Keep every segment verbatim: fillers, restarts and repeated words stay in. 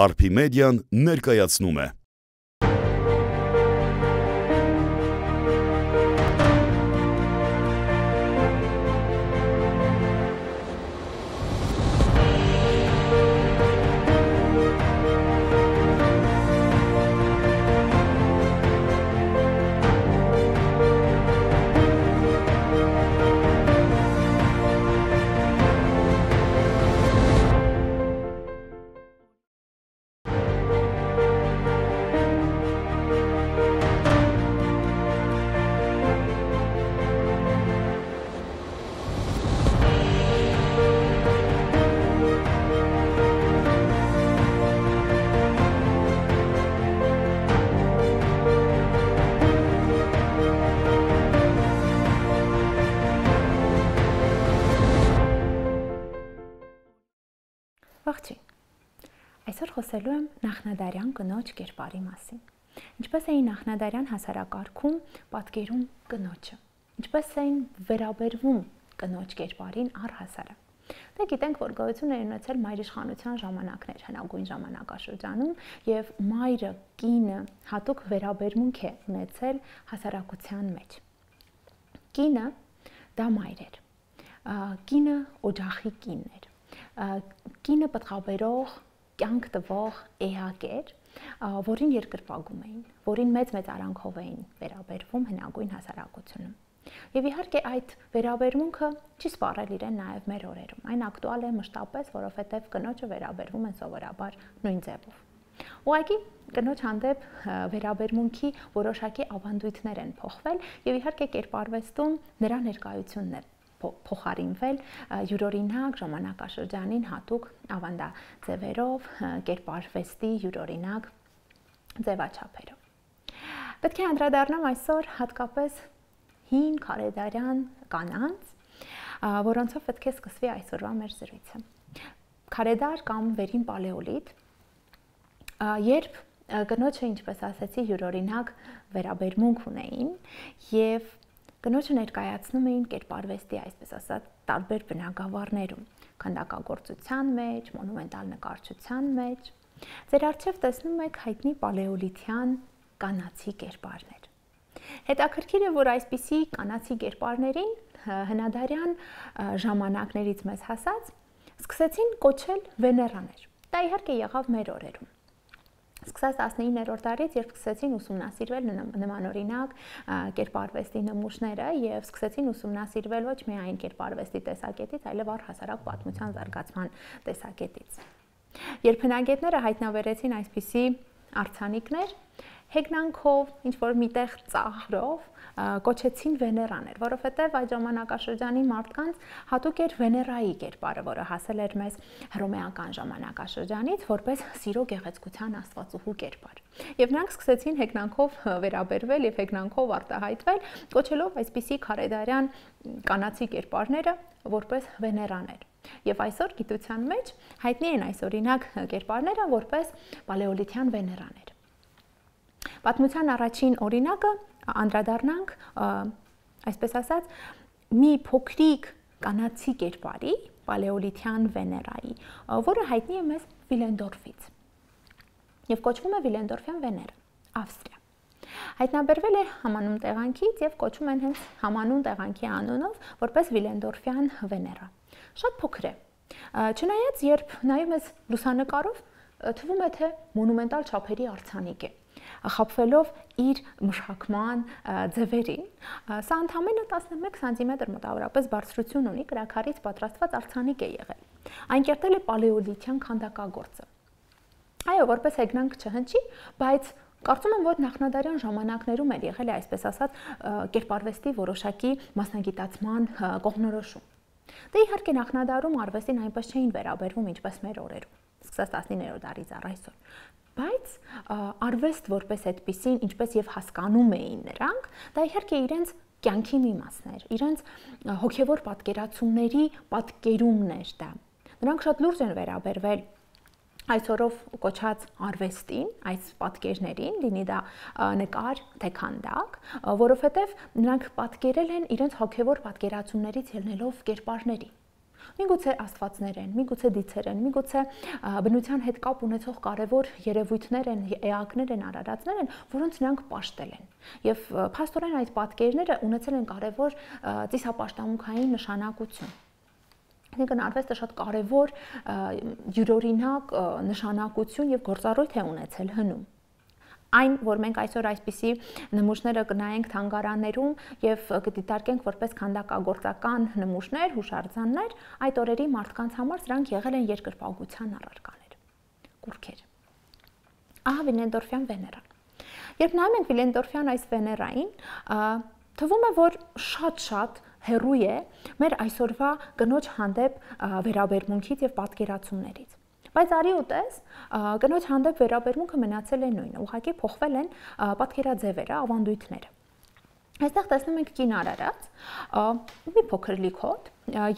Արփիմեդիան ներկայացնում է։ Ողջույն, այսօր խոսելու եմ նախնադարյան կնոջ կերպարի մասին, ինչպես էին նախնադարյան հասարակարգում պատկերում կնոջը, ինչպես էին վերաբերվում կնոջ կերպարին առհասարակ։ Դե գիտենք, որ գոյություն են ունեցել մայրիշխանության ժամանակներ հնագույն ժամանակաշրջանում եւ մայրը, կինը հատուկ վերաբերմունք է ունեցել հասարակության մեջ։ Կինը դա մայր էր, կինը օջախի կինն էր, կինը պտղաբերող, կյանք տվող էակ էր, որին երկրպագում էին, որին մեծ-մեծ արանքով էին վերաբերվում հնագույն հասարակությունում։ Եվ իհարկե այդ վերաբերմունքը չի սպառել իրեն նաև մեր օրերում։ Այն ակտուալ է մշտապես, որովհետև կնոջը վերաբերվում են սովորաբար նույն ձևով։ Ուղղակի կնոջ հանդեպ վերաբերմունքի որոշակի ավանդույթներ են փոխվել եւ իհարկե կերպարվեստում նրա ներկայությունն է փոխարինվել յուրօրինակ ժամանակաշրջանին հատուկ ավանդաձևերով, կերպարվեստի յուրօրինակ ձևաչափերով։ Պետք է անդրադառնամ այսօր հատկապես հին քարեդարյան կանանց, որոնցով պետք է սկսվի այսօրվա մեր զրույցը։ Քարեդար կամ վերին պալեոլիթ, երբ կնոջը, ինչպես ասացի, յուրօրինակ վերաբերմունք ունեին եւ կնոջը ներկայացնում էին կերպարվեստի, այսպես ասած, տարբեր բնագավառներում, քանդակագործության մեջ, մոնումենտալ նկարչության մեջ։ Ձեր առջև տեսնում եք հայտնի պալեոլիթյան կանացի կերպարներ։ Հետաքրքիր է, որ այսպիսի կանացի կերպարներին հնադարյան ժամանակներից մեզ հասած սկսեցին կոչել վեներաներ։ Դա իհարկե եղավ մեր օրերում։ Սկսած տասնիններորդ դարից, երբ սկսեցին ուսումնասիրվել նմանօրինակ կերպարվեստի նմուշները եւ սկսեցին ուսումնասիրվել ոչ միայն կերպարվեստի տեսակետից, այլև առհասարակ պատմության զարգացման տեսակետից։ Երբ հնագետները հայտնաբերեցին այսպիսի արձանիկներ, հեգնանքով, ինչ որ միտեղ ծաղրով կոչեցին վեներաներ, որովհետև այդ ժամանակաշրջանի մարդկանց հատուկ էր վեներայի կերպարը, որը հասել էր մեզ հռոմեական ժամանակաշրջանից որպես սիրո գեղեցկության աստվածուհու կերպար։ Եվ նրանք սկսեցին հեգնանքով վերաբերվել եւ հեգնանքով արտահայտվել, կոչելով այսպիսի քարեդարյան կանացի կերպարները որպես վեներաներ։ Եւ այսօր գիտության մեջ հայտնի են այս օրինակ կերպարները որպես պալեոլիթյան վեներաներ։ Պատմության առաջին օրինակը անդրադառնանք, այսպես ասած, մի փոքրիկ կանացի կերպարի, պալեոլիթյան վեներայի, որը հայտնի է մեզ Վիլենդորֆից եւ կոչվում է Վիլենդորֆյան վեներա, Ավստրիա։ Հայտնաբերվել է համանուն տեղանքից եւ կոչում են հենց համանուն տեղանքի անունով որպես Վիլենդորֆյան վեներա։ Շատ փոքր է։ Չնայած երբ նայում ես լուսանկարով, թվում է թե մոնումենտալ չափերի արձանիկ է, խաբվելով իր մշակման ձևերին, սա ընդամենը տասնմեկ սանտիմետր մոտավորապես բարձրություն ունի, կրաքարից պատրաստված արձանիկ է եղել։ Այն կերտել է պալեոլիթյան քանդակագործը։ Այո, որպես հեգնանք չհնչի, բայց կարծում եմ, որ նախնադարյան ժամանակներում էր եղել է, այսպես ասած, կերպարվեստի որոշակի մասնագիտացման կողմնորոշում։ Դե իհարկե նախնադարում արվեստին այնպես չէին վերաբերվում, ինչպես մեր օրերում, սկսած տասնիններորդ դարից առ այսօր։ Բայց արվեստ որպես այդպիսին, ինչպես եւ հասկանում էին նրանք, դա իհարկե իրենց կյանքի մի մասն էր, իրենց հոգեվոր պատկերացումների պատկերումն էր դա։ Նրանք շատ լուրջ են վերաբերվել այսօրով կոչած արվեստին, այս պատկերներին, լինի դա նկար, թե քանդակ, որովհետև նրանք պատկերել են իրենց հոգևոր պատկերացումներից ելնելով կերպարների։ Միգուցե աստվածներ են, միգուցե դիցեր են, միգուցե բնության հետ կապ ունեցող կարևոր երևույթներ են, էակներ են, արարածներ են, որոնց նրանք պաշտել են։ Եվ փաստորեն այդ պատկերները ունեցել են կարևոր ծիսապաշտամունքային նշանակություն։ Այսինքն արվեստը շատ կարևոր յուրօրինակ նշանակություն եւ գործառույթ է ունեցել հնում։ Այն, որ մենք այսօր այսպիսի նմուշները կնայենք թանգարաններում եւ կդիտարկենք որպես քանդակագործական նմուշներ, հուշարձաններ, այդ օրերի մարդկանց համար սրանք եղել են երկրպագության առարկաներ, կուռքեր։ Ահա Վիլենդորֆյան Վեներան։ Երբ նայում ենք Վիլենդորֆյան այս Վեներային, թվում է, որ շատ-շատ հեռու է մեր այսօրվա կնոջ հանդեպ վերաբերմունքից եւ պատկերացումներից։ Բայց արի ու տես, կնոջ հանդեպ վերաբերմունքը մնացել է նույնը, ուղղակի փոխվել են պատկերաձևերը, ավանդույթները։ Այստեղ տեսնում ենք կին արարած, մի փոքր լիքոտ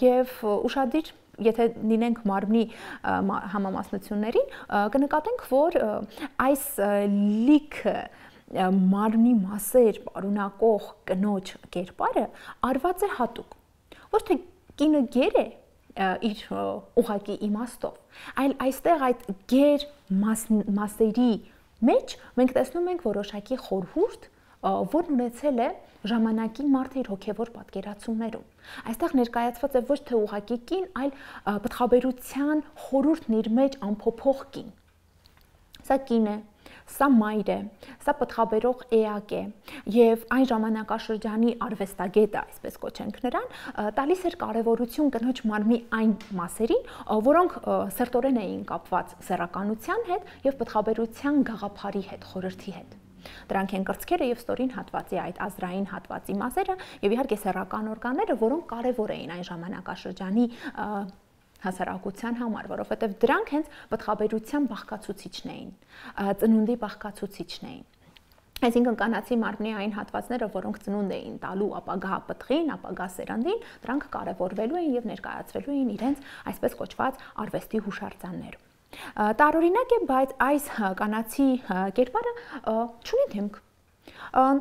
եւ ուշադիր, եթե լինենք մարմնի համամասնություններին, կնկատենք, որ այս լիքը մարմնի մասեր պարունակող կնոջ կերպարը արված է հատուկ։ Ոչ թե կինը գեր է իր ուղղակի իմաստով, այլ այստեղ այդ գեր մասերի մեջ մենք տեսնում ենք որոշակի խորհուրդ, որն ունեցել է ժամանակի մարդը իր հոգևոր պատկերացումներում։ Այստեղ ներկայացված է ոչ թե ուղղակի կին, այլ պտղաբերության խորհուրդն իր մեջ ամփոփող կին։ Սա կին է, սա մայր է, սա պտղաբերող էակ է եւ այն ժամանակաշրջանի արվեստագետը, այսպես կոչենք նրան, տալիս էր կարեւորություն կնոջ մարմնի այն մասերին, որոնք սերտորեն էին կապված սեռականության հետ եւ պտղաբերության գաղափարի հետ, խորհրդի հետ։ Դրանք են կրծքերը եւ ստորին հատվածի այդ ազրային հատվածի մասերը եւ իհարկե սեռական օրգանները, որոնք կարեւոր էին այն ժամանակաշրջանի հասարակության համար, որովհետև դրանք հենց պտղաբերության բաղկացուցիչն էին, ծնունդի բաղկացուցիչն էին։ Այսինքն կանացի մարմնի այն հատվածները, որոնք ծնունդ էին տալու ապագա պտղին, ապագա սերնդին, դրանք կարևորվելու էին եւ ներկայացվելու էին իրենց այսպես կոչված արվեստի հուշարձաններում։ Տարօրինակ է, բայց այս կանացի կերպարը չունի դեմք։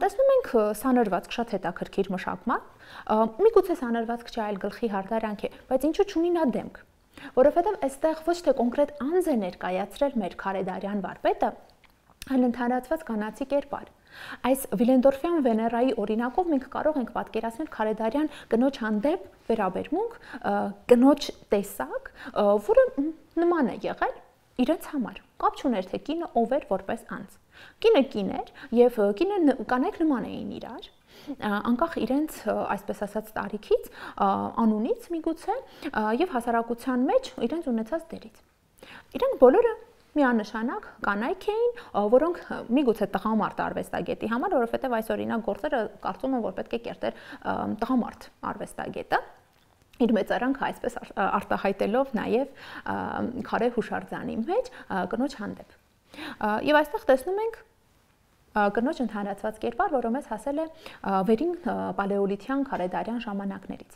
Տեսնում ենք սանրվածք շատ հետաքրքիր մշակման, միգուցե սանրվածք չէ, այլ գլխի հարդարանք է, բայց ինչու չունի նա դեմք։ Որովհետև այստեղ ոչ թե կոնկրետ անձ է ներկայացրել մեր քարեդարյան վարպետը, այլ ընդհանրացված կանացի կերպար։ Այս Վիլենդորֆյան Վեներայի օրինակով մենք կարող ենք պատկերացնել քարեդարյան կնոջ հանդեպ վերաբերմունք, կնոջ տեսակ, որը նման է եղել իրենց համար։ Կապ չուներ, թե կինը ով էր որպես անձ։ Կինը կին էր եւ կինը կանայք նման էին իրար, անկախ իրենց այսպես ասած տարիքից, անունից միգուցե եւ հասարակության մեջ իրենց ունեցած դերից։ Իրենք բոլորը միանշանակ կանայք էին, որոնք միգուցե տղամարդ արվեստագետի համար, որովհետեւ այս օրինակ գործերը կարծում եմ, որ պետք է կերտեր տղամարդ արվեստագետը, իր մեծարանքը այսպես արտահայտելով նաեւ քարե հուշարձանի մեջ կնոջ հանդեպ։ Եվ այստեղ տեսնում ենք կնոջ ընդհանրացված կերպար, որը մեզ հասել է վերին պալեոլիթյան քարեդարյան ժամանակներից։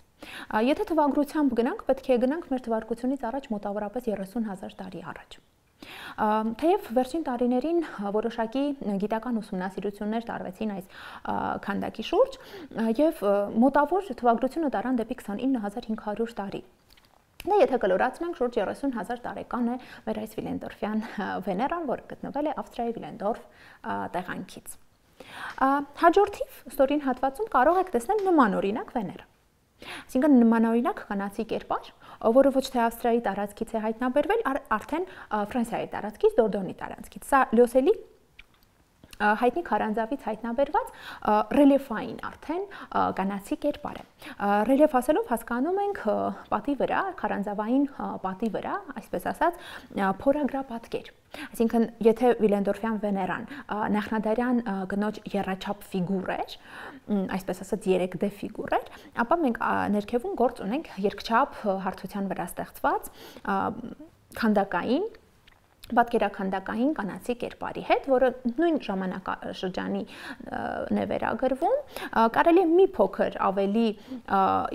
Եթե թվագրությամբ գնանք, պետք է գնանք մեր թվարկությունից առաջ մոտավորապես երեսուն հազար տարի առաջ։ Թեև վերջին տարիներին որոշակի գիտական ուսումնասիրություններ տարվեցին այս քանդակի շուրջ եւ մոտավոր թվագրությունը տարան դեպի քսանինը հազար հինգ հարյուր տարի։ Դա եթե կլորացնենք շուրջ երեսուն հազար տարեկան է մեր այս Վիլենդորֆյան Վեներան, որը գտնվել է Ավստրիայի Վիլենդորֆ տեղանքից։ Հաջորդիվ ստորին հատվածում կարող եք տեսնել նման օրինակ Վեներա։ Այսինքն նմանօրինակ կանացի կերպար, որը ոչ թե Ավստրիայի տարածքից է հայտնաբերվել, արդեն Ֆրանսիայի տարածքից, Դորդոնի տարածքից։ Սա լյոսելի հայտնի քարանձավից հայտնաբերված ռելիեֆային արդեն կանացի կերպար է։ Ռելիեֆ ասելով հասկանում ենք պատի վրա, քարանձավային պատի վրա, այսպես ասած, փորագրապատկեր։ Այսինքն, եթե Վիլենդորֆյան Վեներան նախնադարյան կնոջ եռաչափ ֆիգուր էր, այսպես ասած երեք դե ֆիգուր էր, ապա մենք ներքևում գործ ունենք երկչափ հարթության վրա ստեղծված քանդակային պատկերաքանդակային կանացի կերպարի հետ, որը նույն ժամանակաշրջանի է վերագրվում, կարելի է մի փոքր ավելի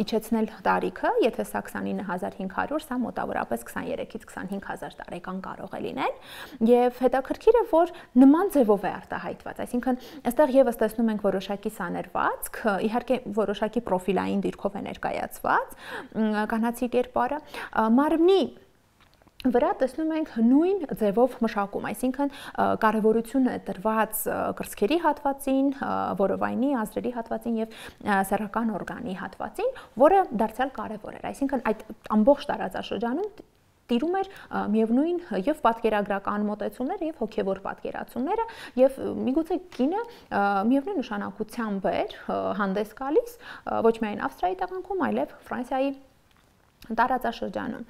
իջեցնել տարիքը, եթե սա քսանինը հազար հինգ հարյուր, սա մոտավորապես քսաներեքից քսանհինգ հազար տարեկան կարող է լինել, եւ հետաքրքիր է, որ նման ձևով է արտահայտված, այսինքն այստեղ եւս տեսնում ենք որոշակի սաներվածք, իհարկե որոշակի պրոֆիլային դիրքով է ներկայացված կանացի կերպարը, մարմնի վրա տեսնում ենք նույն ձևով մշակում, այսինքն կարևորությունը տրված կրծքերի հատվածին, որովայնի, ազդրերի հատվածին եւ սեռական օրգանի հատվածին, որը դարձյալ կարևոր էր, այսինքն այդ ամբողջ տարածաշրջանում տիրում էր միևնույն եւ պատկերագրական մոտեցումները եւ հոգեվոր պատկերացումները եւ միգուցե կինը միևնույն նշանակությամբ էր հանդես գալիս ոչ միայն Ավստրիայի տեղանքում, այլև Ֆրանսիայի տարածաշրջանում։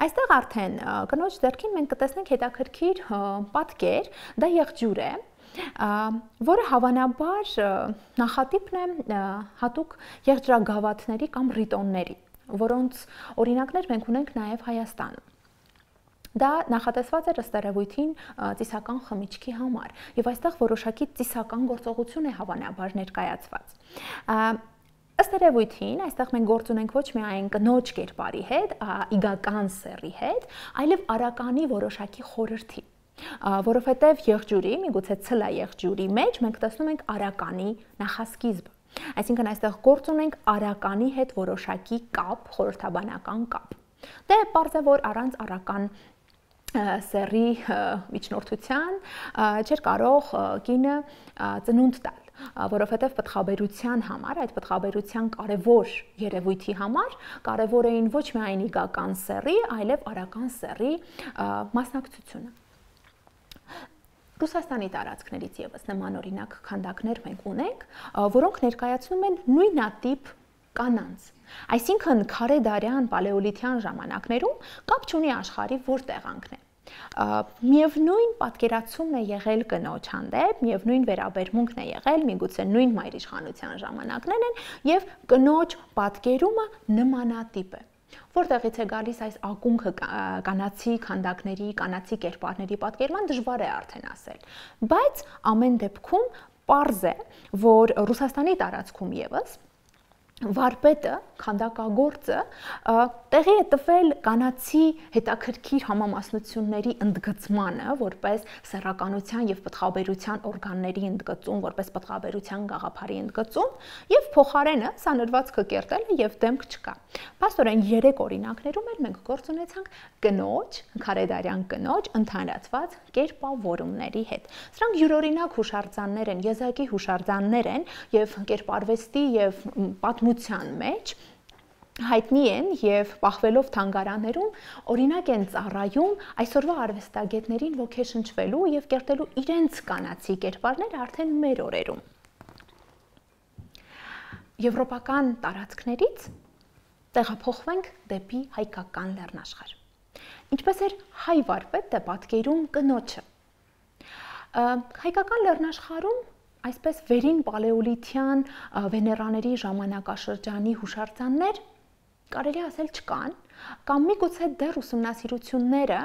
Այստեղ արդեն կնոջ ձեռքին մենք կտեսնենք հետաքրքիր պատկեր, դա եղջյուր է, որը հավանաբար նախատիպն է հատուկ եղջրագավաթների կամ ռիտոնների, որոնց օրինակներ մենք ունենք նաև Հայաստանում։ Դա նախատեսված էր ըստ երևույթին ծիսական խմիչքի համար, եւ այստեղ որոշակի ծիսական գործողություն է հավանաբար ներկայացված։ Ըստ երևույթին, այստեղ մենք գործ ունենք ոչ միայն կնոջ կերպարի հետ, իգական սեռի հետ, այլև արականի որոշակի խորհրդի, որովհետև եղջյուրի, միգուցե ցլա եղջյուրի մեջ մենք տեսնում ենք արականի նախասկիզբը։ Այսինքն այստեղ գործ ունենք արականի հետ որոշակի կապ, խորհրդաբանական կապ։ Դե պարզ է, որ առանց արական սեռի միջնորդության չէր կարող կինը ծնունդ տալ, որովհետև պտղաբերության համար, այդ պտղաբերության կարևոր երևույթի համար կարևոր էին ոչ միայն իգական սեռի, այլև արական սեռի մասնակցությունը։ Ռուսաստանի տարածքներից եւս նման օրինակ քանդակներ մենք ունենք, որոնք ներկայացնում են նույնատիպ կանանց։ Այսինքն քարեդարյան պալեոլիթյան ժամանակներում կապ չունի աշխարհի որ տեղանքն է։ Միևնույն պատկերացումն է եղել կնոջ հանդեպ, միևնույն վերաբերմունքն է եղել, միգուցե նույն մայրիշխանության ժամանակներն են, եւ կնոջ պատկերումը նմանատիպ է։ Որտեղից է գալիս այս ակունքը կանացի քանդակների, կանացի կերպարների պատկերման դժվար է արդեն ասել, բայց ամեն դեպքում պարզ է, որ Ռուսաստանի տարածքում եւս վարպետը, քանդակագործը տեղի է տվել կանացի հետաքրքիր համամասնությունների ընդգծմանը, որպես սեռականության եւ պտղաբերության օրգանների ընդգծում, որպես պտղաբերության գաղափարի ընդգծում, եւ փոխարենը սանրվածքը կերտել է եւ դեմք չկա։ Փաստորեն երեք օրինակներում էլ մենք գործ ունեցանք կնոջ, քարեդարյան կնոջ ընդհանրացված կերպավորումների հետ։ Սրանք յուրօրինակ հուշարձաններ են, եզակի հուշարձաններ են եւ կերպարվեստի եւ պատմության մեջ հայտնի են եւ պահվելով թանգարաններում օրինակ են ծառայում այսօրվա արվեստագետներին ոգեշնչվելու եւ կերտելու իրենց կանացի կերպարները արդեն մեր օրերում։ Եվրոպական տարածքներից տեղափոխվենք դեպի հայկական լեռնաշխարհ։ Ինչպես էր հայ վարպետը պատկերում կնոջը։ Հայկական լեռնաշխարհում այսպես վերին պալեոլիթյան վեներաների ժամանակաշրջանի հուշարձաններ կարելի ասել չկան, կամ միգուցե դեռ ուսումնասիրությունները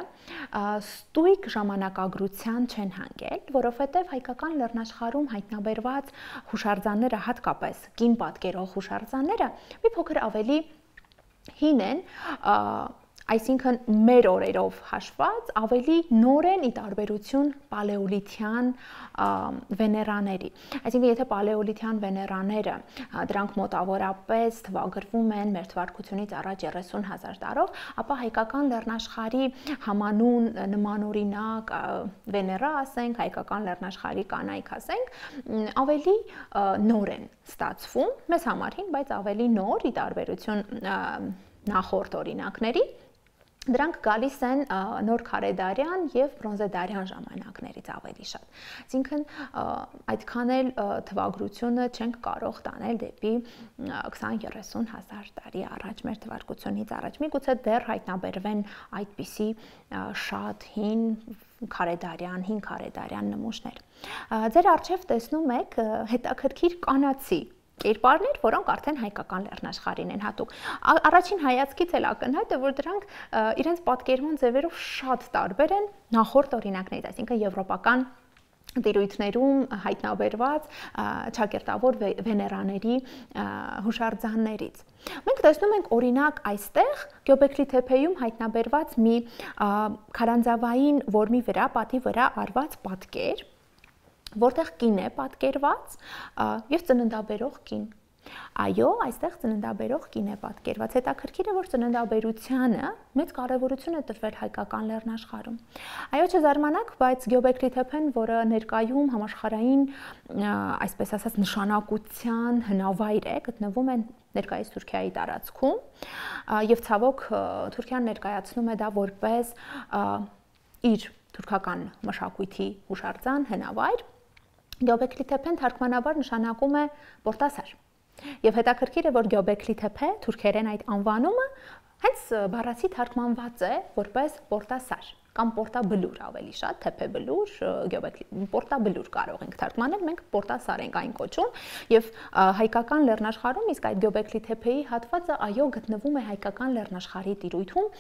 ստույգ ժամանակագրության չեն հանգել, որովհետև հայկական լեռնաշխարհում հայտնաբերված հուշարձանները, հատկապես կին պատկերող հուշարձանները, մի փոքր ավելի հին են, այսինքն մեր օրերով հաշված ավելի նոր են ի տարբերություն պալեոլիթյան վեներաների։ Այսինքն եթե պալեոլիթյան վեներաները դրանք մոտավորապես թվագրվում են մեր թվարկությունից առաջ երեսուն հազար տարով, ապա հայկական լեռնաշխարհի համանուն նմանօրինակ վեներա ասենք, հայկական լեռնաշխարհի կանայք ասենք, ավելի նոր են ստացվում, մեզ համար հին, բայց ավելի նոր ի տարբերություն նախորդ օրինակների։ Դրանք գալիս են նոր քարեդարյան եւ բրոնզեդարյան ժամանակներից ավելի շատ։ Այսինքն այդքան էլ թվագրությունը չենք կարող տանել դեպի քսան երեսուն հազար տարի առաջ մեր թվարկությունից առաջ։ Միգուցե դեռ հայտնաբերվեն այդպիսի շատ հին քարեդարյան, հին քարեդարյան նմուշներ։ Ձեր առջև տեսնում եք հետաքրքիր կանացի կերպարներ, որոնք արդեն հայկական լեռնաշխարհին են հատուկ։ Առաջին հայացքից էլ ակնհայտ է, որ դրանք իրենց պատկերման ձևերով շատ տարբեր են նախորդ օրինակներից, այսինքն եվրոպական տիրույթներում հայտնաբերված ճակերտավոր վեներաների հուշարձաններից։ Մենք տեսնում ենք օրինակ այստեղ Գյոբեքլի թեփեյում հայտնաբերված մի քարանձավային որմի վրա, պատի վրա արված պատկեր, որտեղ կին է պատկերված եւ ծննդաբերող կին։ Այո, այստեղ ծննդաբերող կին է պատկերված։ Հետաքրքիր է, որ ծննդաբերությանը մեծ կարևորություն է տրվել հայկական լեռնաշխարհում։ Այո, չզարմանաք, բայց Գյոբեքլի թեփեն, որը ներկայում համաշխարհային, այսպես ասած, նշանակության հնավայր է, գտնվում է ներկայիս Թուրքիայի տարածքում, եւ ցավոք Թուրքիան ներկայացնում է դա որպես իր թուրքական մշակույթի հուշարձան, հնավայր։ Գյոբեքլի թեփեն թարգմանաբար նշանակում է պորտասար։ Եվ հետաքրքիր է, որ Գյոբեքլի թեփե թուրքերեն այդ անվանումը հենց բառացի թարգմանված է որպես պորտասար կամ պորտաբլուր ավելի շատ, թեփեբլուր, Գյոբեքլի պորտաբլուր կարող ենք թարգմանել, մենք պորտասար ենք այն կոչում, եւ հայկական լեռնաշխարհում իսկ այդ Գյոբեքլի թեփեի հատվածը այո գտնվում է հայկական լեռնաշխարհի տիրույթում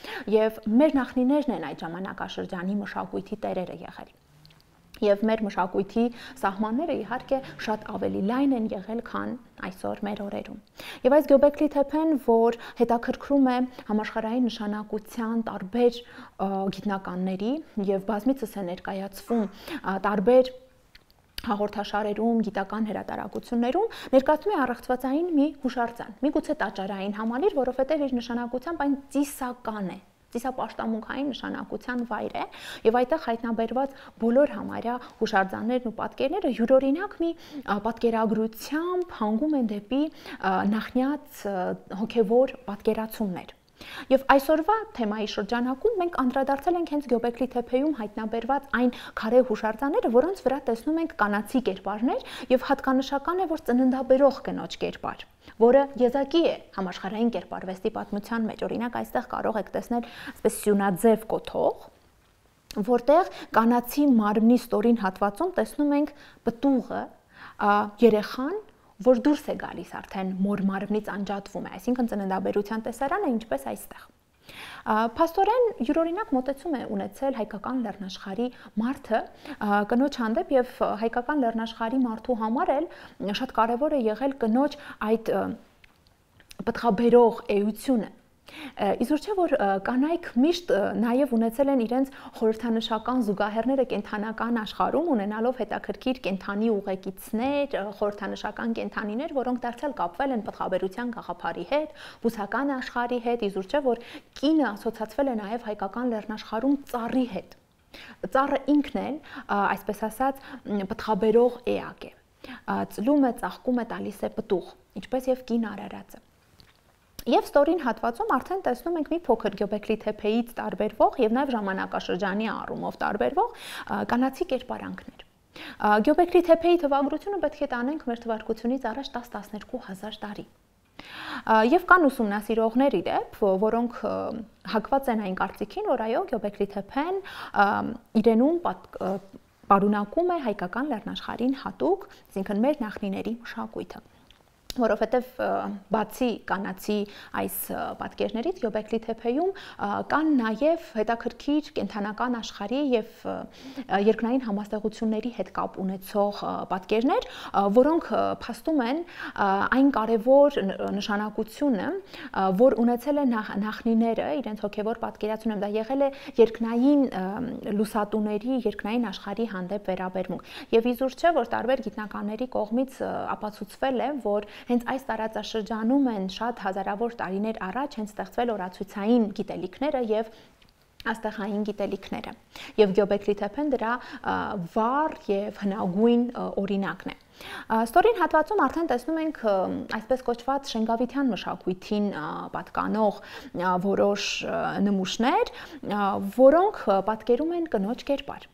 եւ մեր նախնիներն են այդ ժամանակաշրջանի մշակույթի տերերը եղել։ Եվ մեր մշակույթի սահմանները իհարկե շատ ավելի լայն են եղել, քան այսօր մեր օրերում։ Եվ այս Գյոբեքլի թեփեն, որ հետաքրքրում է համաշխարհային նշանակության տարբեր գիտնականների եւ բազմիցս է ներկայացվում տարբեր հաղորդաշարերում, գիտական հրատարակություններում, ներկայացնում է առեղծվածային մի հուշարձան, միգուցե տաճարային համալիր, որովհետեւ իր նշանակությամբ այն ծիսական է։ Ծիսապաշտամունքային նշանակության վայր է եւ այդտեղ հայտնաբերված բոլոր համարյա հուշարձաններն ու պատկերները յուրօրինակ մի պատկերագրությամբ հանգում են դեպի նախնյաց հոգեվոր պատկերացումներ։ Եվ այսօրվա թեմայի շրջանակում մենք անդրադարձել ենք հենց Գյոբեքլի թեփեյում հայտնաբերված այն քարե հուշարձանները, որոնց վրա տեսնում ենք կանացի կերպարներ եւ հատկանշական է, որ ծննդաբերող կնոջ կերպար, որը եզակի է համաշխարհային կերպարվեստի պատմության մեջ։ Օրինակ այստեղ կարող եք տեսնել այսպես սյունաձև կոթող, որտեղ կանացի մարմնի ստորին հատվածում տեսնում ենք պտուղը, երեխան, որ դուրս է գալիս արդեն մոր մարմնից անջատվում է, այսինքն ծննդաբերության տեսարանը ինչպես այստեղ։ Փաստորեն յուրօրինակ մոտեցում է ունեցել հայկական լեռնաշխարհի մարդը կնոջ հանդեպ եւ հայկական լեռնաշխարհի մարդու համար էլ շատ կարեւոր է եղել կնոջ այդ պտղաբերող էությունը։ Իզուր չէ, որ կանայք միշտ նաև ունեցել են իրենց խորհրդանշական զուգահեռները կենթանական աշխարհում, ունենալով հետաքրքիր կենթանի ուղեկիցներ, խորհրդանշական կենթանիներ, որոնք դարձյալ կապվել են պտղաբերության գաղափարի հետ, բուսական աշխարհի հետ, իզուր չէ, որ կինը ասոցացվել է նաև հայկական լեռնաշխարհում ծառի հետ։ Ծառը ինքն էլ, այսպես ասած, պտղաբերող էակ է։ Ծլում է, ծաղկում է, տալիս է պտուղ, ինչպես եւ կին արարածը։ Եվ ստորին հատվածում արդեն տեսնում ենք մի փոքր Գյոբեքլի թեփեից տարբերվող եւ նաեւ ժամանակաշրջանի առումով տարբերվող կանացի կերպարանքներ։ Գյոբեքլի թեփեի թվագրությունը պետք է տանենք մեր թվարկությունից առաջ տասը տասներկու հազար տարի։ Եվ կան ուսումնասիրողներ իդեպ, որոնք հակված են այն կարծիքին, որ այո, Գյոբեքլի թեփեն իրենում պարունակում է հայկական լեռնաշխարհին հատուկ, այսինքն մեր նախնիների մշակույթը։ Որովհետև բացի կանացի այս պատկերներից Գյոբեքլի թեփեյում կան նաև հետաքրքիր կենթանական աշխարհի եւ երկնային համաստեղությունների հետ կապ ունեցող պատկերներ, որոնք փաստում են այն կարևոր նշանակությունը, որ ունեցել է նախնիները իրենց հոգեվոր պատկերացումում, դա եղել է երկնային լուսատուների, երկնային աշխարհի հանդեպ վերաբերմունք։ Եվ իզուր չէ, որ տարբեր գիտնականների կողմից ապացուցվել է, որ հենց այս տարածաշրջանում են շատ հազարավոր տարիներ առաջ հենց ստեղծվել օրացուցային գիտելիքները եւ աստղային գիտելիքները։ Եվ Գյոբեքլի թեփեն դրա վառ եւ հնագույն օրինակն է։ Ստորին հատվածում արդեն տեսնում ենք այսպես կոչված շենգավիթյան մշակույթին պատկանող որոշ նմուշներ, որոնք պատկերում են կնոջ կերպար։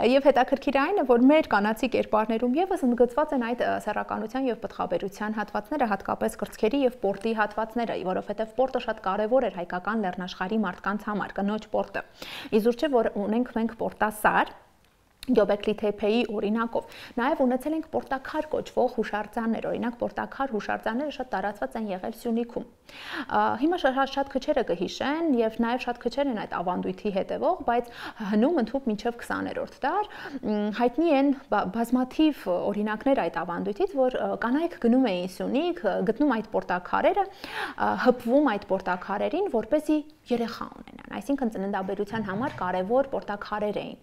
Եվ հետաքրքիր այն է, որ մեր կանացի կերպարներում եւս ընդգծված են այդ սեռականության եւ պտղաբերության հատվածները, հատկապես կրծքերի եւ պորտի հատվածները, որովհետեւ պորտը շատ կարեւոր էր հայկական լեռնաշխարհի մարդկանց համար, կնոջ պորտը։ Իզուր չէ, որ ունենք մենք պորտասար, Գյոբեկլի Թեփեի օրինակով նաև ունեցել ենք պորտակար կոչվող հուշարձաններ, օրինակ պորտակար հուշարձանները շատ տարածված են եղել Սյունիքում։ Հիմա շատ քչերը կհիշեն եւ նաև շատ քչեր են այդ ավանդույթի հետևող, բայց հնում ընդհուպ մինչև քսաներորդ դար հայտնի են բազմաթիվ օրինակներ այդ ավանդույթից, որ կանայք գնում էին Սյունիք, գտնում այդ պորտակարերը, հպվում այդ պորտակարերին, որպեսզի երեխա ունենան, այսինքն ծննդաբերության համար կարևոր պորտակարեր էին։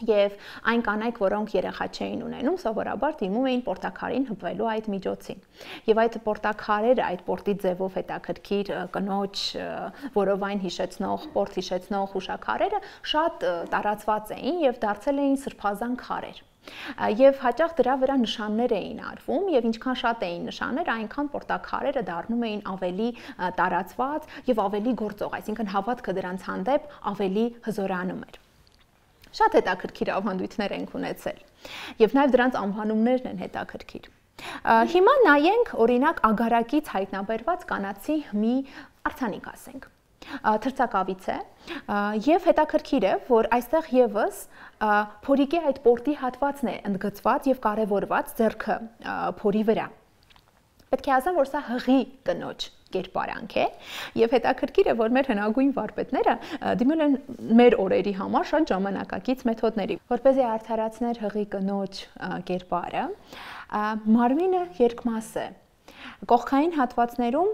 Եվ այն կանայք, որոնք երեխա չէին ունենում, սովորաբար դիմում էին պորտակարին հպվելու այդ միջոցին։ Եվ այդ պորտակարերը, այդ պորտի ձևով հետաքրքիր կնոջ որովայն հիշեցնող, պորտ հիշեցնող հուշաքարերը շատ տարածված էին եւ դարձել էին սրբազան քարեր։ Եվ հաճախ դրա վրա նշաններ էին արվում եւ ինչքան շատ էին նշանները, այնքան պորտակարերը դառնում էին ավելի տարածված եւ ավելի գործող, այսինքն հավատքը դրանց հանդեպ ավելի հզորանում էր։ Շատ հետաքրքիր ավանդույթներ ենք ունեցել եւ նաեւ դրանց անվանումներն են հետաքրքիր։ Հիմա նայենք օրինակ ագարակից հայտնաբերված կանացի մի արձանիկ ասենք։ Թրծակավից է եւ հետաքրքիր է, որ այստեղ եւս փորիկի այդ պորտի հատվածն է ընդգծված եւ կարեւորված ձեռքը փորի վրա։ Պետք է ասեմ, որ սա հղի կնոջ կերպարանք է եւ հետաքրքիր է, որ մեր հնագույն վարպետները դիմել են մեր օրերի համար շատ ժամանակակից մեթոդների, որպեսզի արդարացներ հղի կնոջ կերպարը, մարմինը երկմաս է։ Կողքային հատվածներում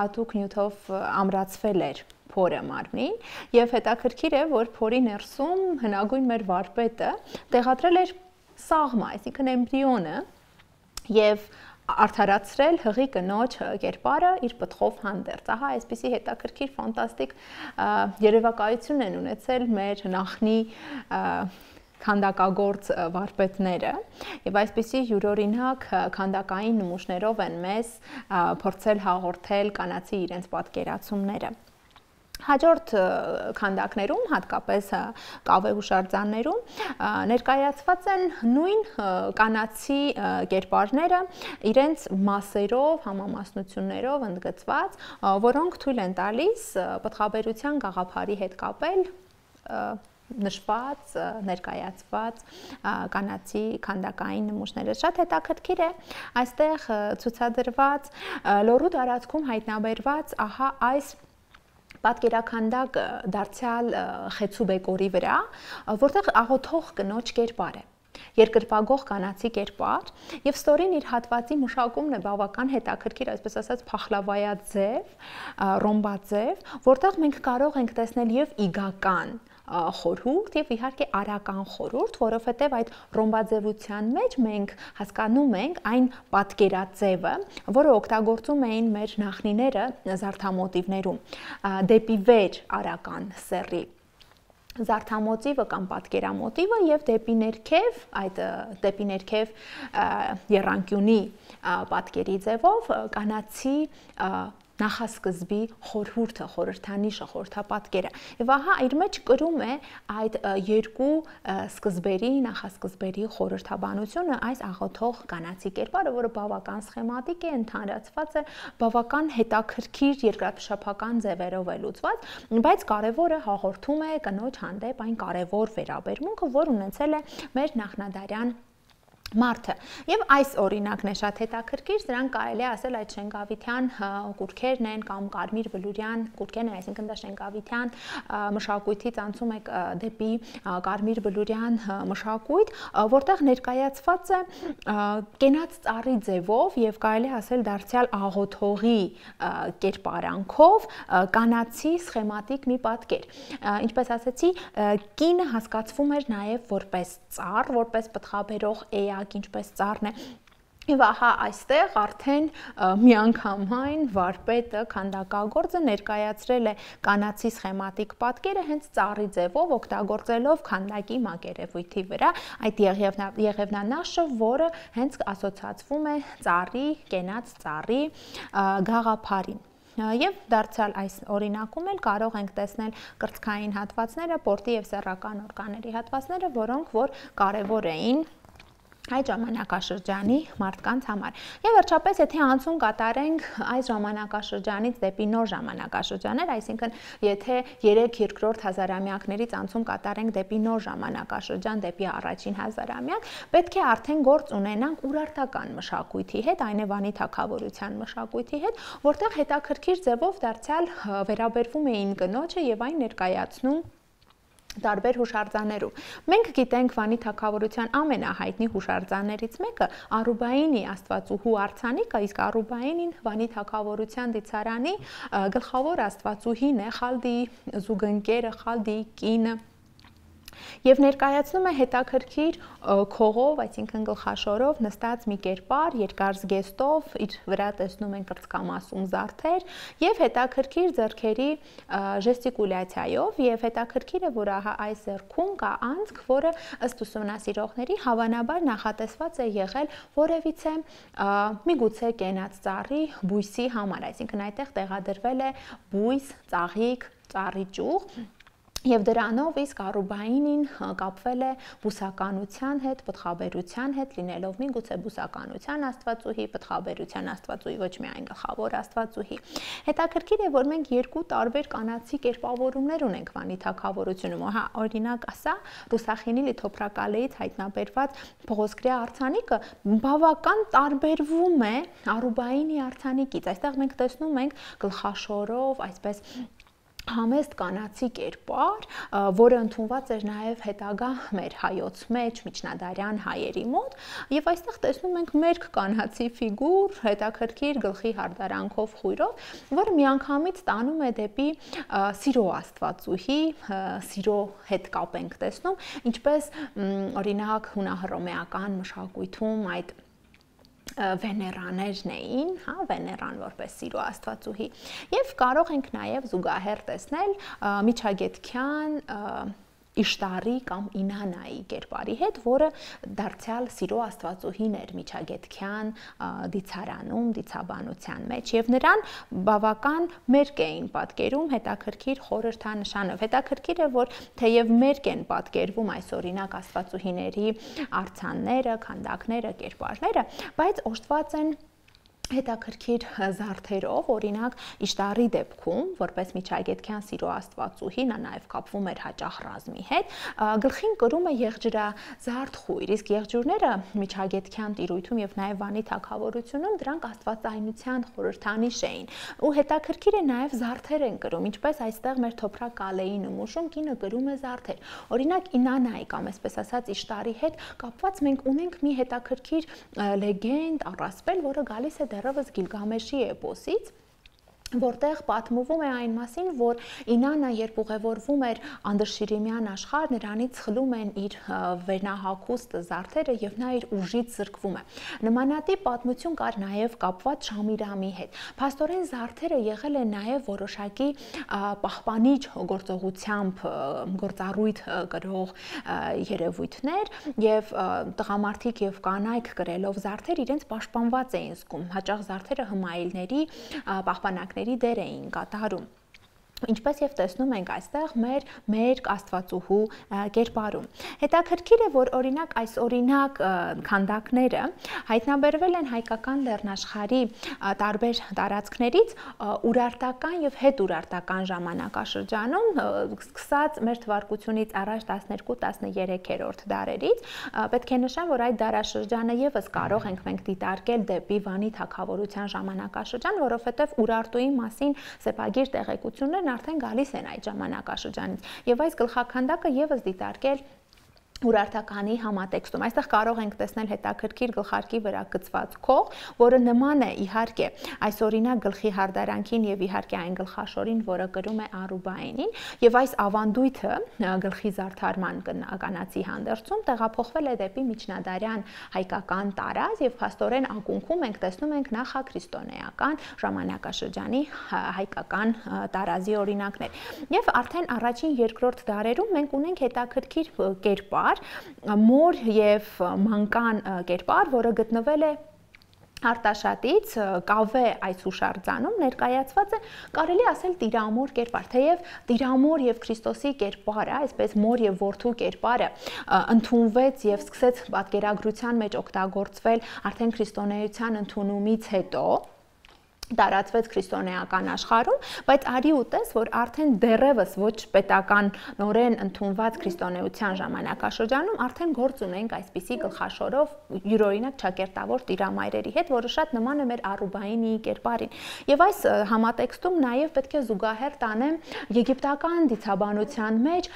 հատուկ նյութով ամրացվել էր փորը մարմնին եւ հետաքրքիր է, որ փորի ներսում հնագույն մեր վարպետը տեղադրել էր սաղմա, այսինքն էմբրիոնը եւ արդարացրել հղի կնոջ կերպարը իր պտղով հանդերձ։ Ահա այսպիսի հետաքրքիր ֆանտաստիկ երևակայություն են ունեցել մեր նախնի քանդակագործ վարպետները եւ այսպիսի յուրօրինակ քանդակային նմուշներով են մեզ փորձել հաղորդել կանացի իրենց պատկերացումները։ Հաջորդ քանդակներում, հատկապես կավե հուշարձաններում ներկայացված են նույն կանացի կերպարները իրենց մասերով, համամասնություններով ընդգծված, որոնք թույլ են տալիս պտղաբերության գաղափարի հետ կապել նշված, ներկայացված կանացի քանդակային նմուշները։ Շատ հետաքրքիր է այստեղ ցուցադրված լոռու տարածքում հայտնաբերված ահա այս պատկերաքանդակը դարձյալ խեցու բեկորի վրա, որտեղ աղոթող կնոջ կերպար է, երկրպագող կանացի կերպար եւ ստորին իր հատվածի մշակումն է բավական հետաքրքիր, այսպես ասած փախլավայաձև, ռոմբաձև, որտեղ մենք կարող ենք տեսնել եւ իգական խորհուրդ եւ իհարկե արական խորհուրդ, որովհետեւ այդ ռոմբաձևության մեջ մենք հասկանում ենք այն պատկերաձևը, որը օգտագործում էին մեր նախնիները զարդամոտիվներում, դեպի վեր արական սեռի զարդամոտիվը կամ պատկերամոտիվը եւ դեպի ներքև, այդ դեպի ներքև եռանկյունի պատկերի ձևով կանացի նախասկզբի խորհուրդը, խորհրդանիշը, խորհրդապատկերը։ Եվ ահա իր մեջ կրում է այդ երկու սկզբերի, նախասկզբերի խորհրդաբանությունը այս աղոթող կանացի կերպարը, որը բավական սխեմատիկ է, ընդհանրացված է, բավական հետաքրքիր երկրափշապական ձևերով է լուծված, բայց կարևորը հաղորդում է կնոջ հանդեպ այն կարևոր վերաբերմունքը, որ ունեցել է մեր նախնադարյան Մարդը եւ այս օրինակն է շատ հետաքրքիր, սրանք կարելի է ասել այդ Շենգավիթյան կուրքերն են կամ Կարմիր Բլուրյան կուրքերն են, այսինքն դա Շենգավիթյան մշակույթից անցում է դեպի Կարմիր Բլուրյան մշակույթ, որտեղ ներկայացված է կենաց ծառի ձևով եւ կարելի է ասել դարձյալ աղոթողի կերպարանքով կանացի սխեմատիկ մի պատկեր։ Ինչպես ասացի, կինը հասկացվում էր նաեւ որպես ծառ, որպես պտղաբերող էա ինչպես ծառն է եւ ահա այստեղ արդեն միանգամայն վարպետը քանդակագործը ներկայացրել է կանացի սխեմատիկ պատկերը հենց ծառի ձևով օգտագործելով քանդակի մակերևույթի վրա այդ եղևնանաշը, որը հենց ասոցացվում է ծառի, կենաց ծառի գաղափարին։ Եվ դարձյալ այս օրինակում էլ կարող ենք տեսնել կրծքային հատվածները, պորտի եւ սեռական օրգանների հատվածները, որոնք որ կարևոր էին այդ ժամանակաշրջանի մարդկանց համար։ Եվ վերջապես, եթե անցում կատարենք այս ժամանակաշրջանից դեպի նոր ժամանակաշրջաներ, այսինքն եթե երեք երկրորդ հազարամյակներից անցում կատարենք դեպի նոր ժամանակաշրջան, դեպի առաջին հազարամյակ, պետք է արդեն գործ ունենանք ուրարտական մշակույթի հետ, Այնևանի թագավորության մշակույթի հետ, որտեղ հետաքրքիր ձևով դարձյալ վերաբերվում էին կնոջը եւ այն ներկայացնում տարբեր հուշարձաններում։ Մենք գիտենք Վանի թագավորության ամենահայտնի հուշարձաններից մեկը Արուբայինի աստվածուհու արձանիկը, իսկ Արուբայինին Վանի թագավորության դիցարանի գլխավոր աստվածուհին է, Խալդիի զուգընկերը, Խալդիի կինը։ Եվ ներկայացնում է հետաքրքիր քողով, այսինքն գլխաշորով նստած մի կերպար, երկար զգեստով, իր վրա տեսնում են կրծքամասում զարդեր եւ հետաքրքիր ձեռքերի ժեստիկուլյացիայով եւ հետաքրքիր է, որ ահա այս ձեռքում կա անցք, որը ըստ ուսումնասիրողների հավանաբար նախատեսված է եղել որևիցե միգուցե կենաց ծառի բույսի համար, այսինքն այդտեղ տեղադրվել է բույս, ծաղիկ, ծառի ճյուղ Եվ դրանով իսկ Արուբայինին կապվել է բուսականության հետ, պտղաբերության հետ, լինելով միգուցե բուսականության աստվածուհի, պտղաբերության աստվածուհի, ոչ միայն գլխավոր աստվածուհի։ Հետաքրքիր է, որ մենք երկու տարբեր կանացի կերպավորումներ ունենք Վանի թագավորությունում։ Հա, օրինակ, ասա, Ռուսախինի լիթոփրակալեից հայտնաբերված փողոսկրի արձանիկը բավական տարբերվում է Արուբայինի արձանիկից։ Այստեղ մենք տեսնում ենք գլխաշորով, այսպես համեստ կանացի կերպար, որը ընդունված էր նաև հետագա մեր հայոց մեջ, միջնադարյան հայերի մոտ, եւ այստեղ տեսնում ենք մերկ կանացի ֆիգուր, հետաքրքիր գլխի հարդարանքով խույրով, որը միանգամից տանում է դեպի սիրո աստվածուհի, սիրո հետ կապ ենք տեսնում, ինչպես օրինակ հունահռոմեական մշակույթում այդ Վեներաներն էին, հա, Վեներան որպես սիրո աստվածուհի, եւ կարող ենք նաեւ զուգահեռ տեսնել միջագետքյան Իշտարի կամ Ինանայի կերպարի հետ, որը դարձյալ սիրո աստվածուհին էր միջագետքյան դիցարանում, դիցաբանության մեջ եւ նրան բավական մերկ էին պատկերում հետաքրքիր խորհրդանշանով։ Հետաքրքիր է, որ թեև մերկ են պատկերվում այս օրինակ աստվածուհիների արձանները, քանդակները, կերպարները, բայց օժտված են հետաքրքիր զարդերով, օրինակ Իշտարի դեպքում, որպես միջագետքյան սիրո աստվածուհի, նա նաև կապվում էր հաճախ ռազմի հետ, գլխին կրում է եղջրազարդ խույր, իսկ եղջյուրները միջագետքյան տիրույթում եւ նաև Վանի թագավորությունում դրանք աստվածայնության խորհրդանիշ էին։ Ու հետաքրքիր է նաև զարդեր են կրում, ինչպես այստեղ մեր Թոփրակալեի նմուշում կինը կրում է զարդեր։ Օրինակ Ինանայի կամ այսպես ասած Իշտարի հետ կապված մենք ունենք մի հետաքրքիր լեգենդ, առասպել, որը գալիս է դեռևս Գիլգամեշի էպոսից, որտեղ պատմվում է այն մասին, որ Ինանա երբ ուղևորվում էր անդրշիրիմյան աշխարհ, նրանից խլում են իր վերնահագուստ զարդերը եւ նա իր ուժից զրկվում է։ Նմանատիպ պատմություն կար նաեւ կապված Շամիրամի հետ։ Փաստորեն զարդերը եղել են նաեւ որոշակի պահպանիչ գործողությամբ գործառույթ կրող երևույթներ եւ տղամարդիկ եւ կանայք կրելով զարդեր իրենց պաշտպանված էին զգում։ Հաճախ զարդերը հմայելների պահպանակների դեր էին կատարում։ Ինչպես եւ տեսնում ենք այստեղ մեր մեր աստվածուհու կերպարում։ Հետաքրքիր է, որ օրինակ այս օրինակ քանդակները հայտնաբերվել են հայկական լեռնաշխարհի տարբեր տարածքներից ուրարտական եւ հետուրարտական ժամանակաշրջանում, սկսած մեր թվարկությունից առաջ տասներկու տասներեքերորդ դարերից, պետք է նշեմ, որ այդ դարաշրջանը եւս կարող ենք մենք դիտարկել դեպի Վանի թագավորության ժամանակաշրջան, որովհետեւ Ուրարտուի մասին սեպագիր տեղեկություններ արդեն գալիս են այդ ժամանակաշրջանից եւ այս գլխաքանդակը եւս դիտարկել ուրարտականի համատեքստում։ Այստեղ կարող ենք տեսնել հետաքրքիր գլխարկի վրա գծված քող, որը նման է իհարկե այս օրինակ գլխի հարդարանքին եւ իհարկե այն գլխաշորին, որը կրում է Արուբայինին, եւ այս ավանդույթը գլխի զարդարման կանացի հանդերձում տեղափոխվել է դեպի միջնադարյան հայկական տարած եւ փաստորեն ակունքում ենք տեսնում ենք նախաքրիստոնեական ժամանակաշրջանի հայկական տարազի օրինակներ։ Եվ արդեն առաջին երկրորդ դարերում մենք ունենք հետաքրքիր կերպար, մոր եւ մանկան կերպար, որը գտնվել է Արտաշատից կավե այս հուշարձանում ներկայացված է կարելի ասել տիրամոր կերպար, թեև տիրամոր եւ Քրիստոսի կերպարը, այսպես մոր եւ որդու կերպարը ընդունվեց եւ սկսեց պատկերագրության մեջ օգտագործվել արդեն քրիստոնեության ընդունումից հետո տարածվեց քրիստոնեական աշխարհում, բայց արի ու տես, որ արդեն դեռևս ոչ պետականորեն ընդունված քրիստոնեության ժամանակաշրջանում արդեն գործ ունենք այսպիսի գլխաշորով յուրօրինակ ճակերտավոր տիրամայրերի հետ, որը շատ նման է մեր Արուբայինի կերպարին։ Եվ այս համատեքստում նաև պետք է զուգահեռ տանեմ եգիպտական դիցաբանության մեջ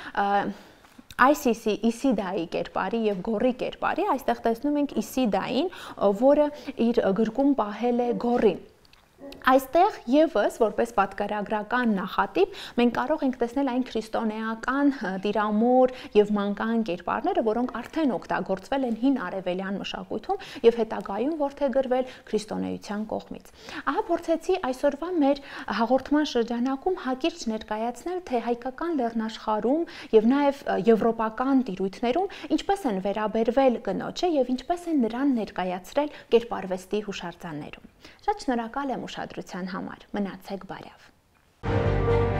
Այսիսի Իսիդայի կերպարի եւ Գորի կերպարի, այստեղ տեսնում ենք Իսիդային, որը իր գրկում պահել է Գորին։ Այստեղ եւս որպես պատկերագրական նախատիպ մենք կարող ենք տեսնել այն քրիստոնեական տիրամոր եւ մանկան կերպարները, որոնք արդեն օգտագործվել են հին արևելյան մշակույթում եւ հետագայում որդեգրվել քրիստոնեության կողմից։ Ահա փորձեցի այսօրվա մեր հաղորդման շրջանակում հակիրճ ներկայացնել, թե հայկական լեռնաշխարհում եւ նաեւ եվրոպական տիրույթներում ինչպես են վերաբերվել կնոջը եւ ինչպես են նրան ներկայացրել կերպարվեստի հուշարձաններում։ Շատ շնորհակալ եմ ուշադրության համար։ Մնացեք բարյավ։